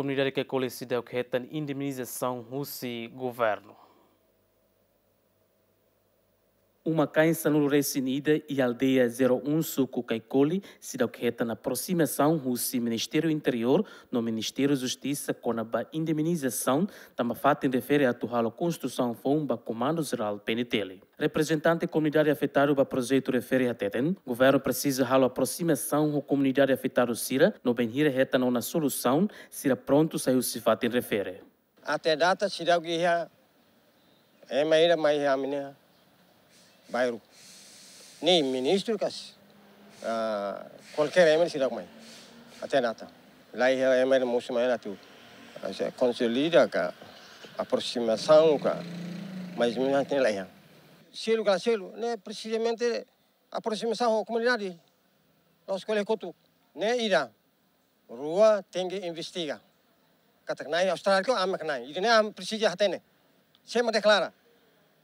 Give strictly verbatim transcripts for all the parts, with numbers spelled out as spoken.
Komunidade Caicoli seidauk hetan indemnizasaun husi governu. Uma-kain sanulu-resin-ida iha aldeia zero um, suku Caicoli, seidauk hetan aprosimasaun husi Ministériu Interiór no Ministériu Justisa kona-ba indemnizasaun, tanba fatin refere atu halo konstrusaun foun ba Komandu Jerál P N T L. Reprezentante komunidade afetadu ba projetu refere hateten, governu presiza halo aprosimasaun ho komunidade afetadu sira, no bainhira hetan ona solusaun, sira prontu sai husi fatin refere. Até data seidauk iha ema ida mai iha ami-nia bairru. Nein ministru ka, ah, kualkér ema seidauk mai. Até data. La iha ema ida mosu mai atu, ah, se konsolida ka, aprosimasaun ka, mais ou menus la iha. Selu ka selu, ne'e presizamente aprosimasaun ho komunidade. La'ós ko'alia kotuk. Ne'e ida. Rua, tenke investiga. Katak na'in Austrália ka, ami ka na'in. Ida-ne'e ami presiza hatene. Sé mak deklara?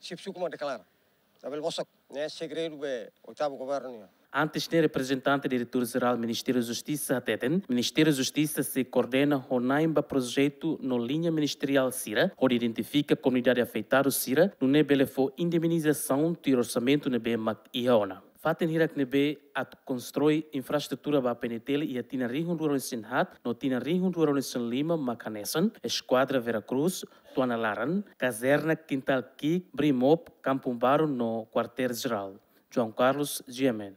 Xefe suku mak deklara. Labele bosok. Ne'e segredu be oitavu governu nian. Antes ne'e, reprezentante Diretór Jerál Ministériu Justisa hateten, Ministériu Justisa sei koordena ho na'in ba projetu no liña ministeriál sira, hodi identifika komunidade afetadu sira, nune'e bele fó indemnizasaun tuir orsamentu ne'ebé mak iha ona. Fatin hirak ne'ebé atu konstrui infraestrutura ba P N T L iha tinan rihun rua ruanulu-resin-haat no tinan rihun rua ruanulu-resin-lima mak hanesan Eskuadra Vera Cruz, Tuana Laran, Kazerna Kintal Ki'ik, Brimob, Kampung Baru no Kuartél Jerál. João Carlos, G M N.